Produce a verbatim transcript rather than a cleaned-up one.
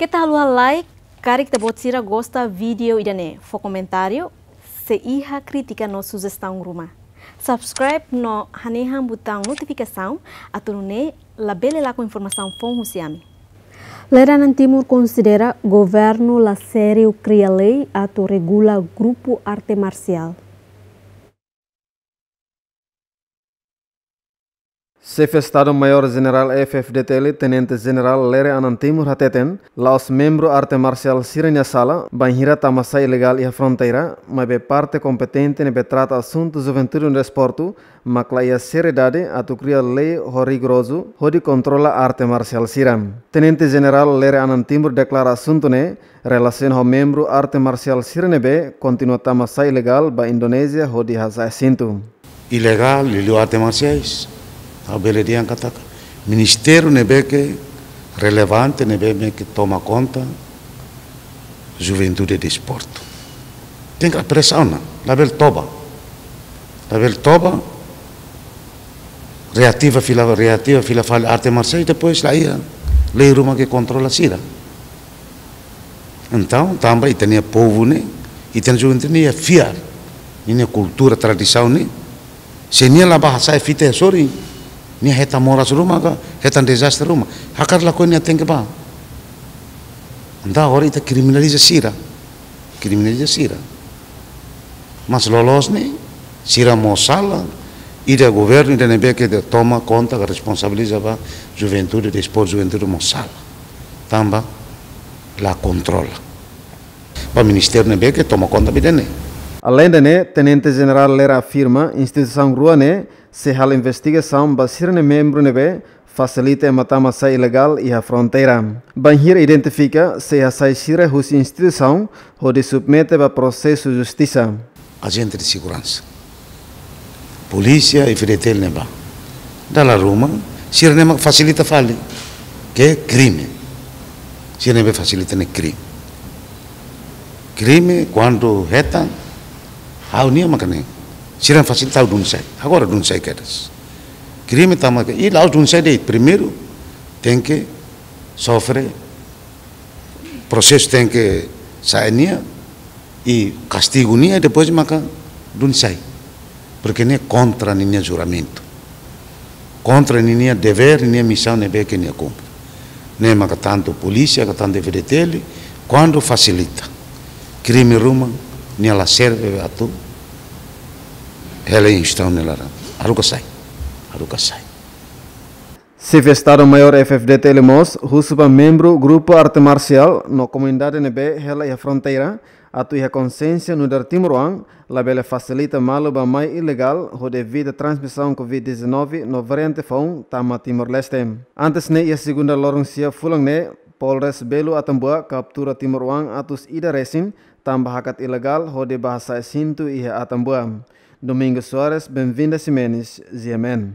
Keta haluha like, karik ita-boot sira gosta vídeo ida-ne'e, fó komentáriu, se iha krítika no sujestaun ruma. Subscribe no hanehan butaun notifikasaun, atu nune'e labele lakon informasaun foun husi ami. Lere Anan Timur konsidera governu la sériu kria lei atu regula grupu arte marsiál. Xefe Estadu Maiór Jenerál F-FDTL, Tenente Jenerál Lere Anan Timur hateten, la'ós membru arte marsiál sira-nia sala, bainhira tama sai ilegál iha fronteira, maibé parte kompetente ne'ebé trata asuntu juventude no desportu, mak la iha seriedade atu kria lei ho rigorozu hodi kontrola arte marsiál sira. Tenente Jenerál Lere Anan Timur deklara asuntu ne'e relasiona ho membru arte marsiál sira ne'ebé kontinua tama sai ilegál ba Indonézia hodi hasa'e sintu. Ilegál, liuliu arte marsiais, ha'u bele dehan katak ministériu ne'ebé ke relevante, ne'ebé ke toma konta juventude desportu. Tenke apresiasaun ona, labele toba. Labele toba, reativa fila, reativa fila fali arte marsiais, depois la iha lei ruma ke kontrola sira. Entaun, tanba ita-nia povu ne'e, ita-nia juventude ne'e iha fiar ninia kultura, tradisaun ne'e. Se nia la bá hasa'e fita iha sorin, nia hetan moras ruma ka, hetan dezastre ruma. Hakarak lakohi nia tenke bá. Entaun agora ita kriminaliza sira. Kriminaliza sira. Mas loloos ne'e, sira mós sala, ida governu ida ne'ebé ke toma konta ka responsabiliza ba juventude, desportu, juventude mós sala. Tanba la kontrola. Ba ministériu ne'ebé ke toma konta ba ida-ne'e. Aleinde ne'e, Tenente Jenerál Lere afirma, instituisaun rua ne'e sei halo investigasaun ba sira-nia membru ne'ebé fasilita ema tama sai ilegál iha fronteira. Bainhira identifika, sei hasai sira husi instituisaun hodi submete ba prosesu justisa. Ajente de seguransa, polísia i F-FDTL ne'ebá. Dala ruma, sira-ne'e mak fasilita fali. Ke krime. Sira ne'ebé fasilita ne'e krime. Krime, kuandu hetan, ha'u-nia maka ne'e. Sira fasilita ha'u dun sai. Agora dun sai kedas. Krime tama ke, i la'ós dun sai de'it, primeiru tenke sofre, prosesu tenke sa'e nia, i kastigu nia, depois maka dun sai. Porke ne'e kontra ninia juramentu. Kontra ninia devér, ninia misaun ne'ebé ke nia kumpre. Ne'e maka tantu polísia, ka tantu F-FDTL, kuandu fasilita krime ruma, nia la serve atu hela instituisaun nia laran. Haruka sai. Haruka sai. Xefe Estadu Maiór F-FDTL mós husu ba membru grupu arte marsiál no komunidade ne'ebé hela iha fronteira, atu iha konsiénsia nu'udar timoroan, labele fasilita malu ba mai ilegál hodi evita transmisaun covid dezanove no variante foun tama Timor-Leste. Antes ne'e, iha segunda loron sia fulan ne'e, Polres Belu Atambua kaptura timoroan atus ida resin, tanba hakat ilegál hodi bá hasa'e sintu iha Atambua. Domingos Soares, Benvinda Ximenes, G M N.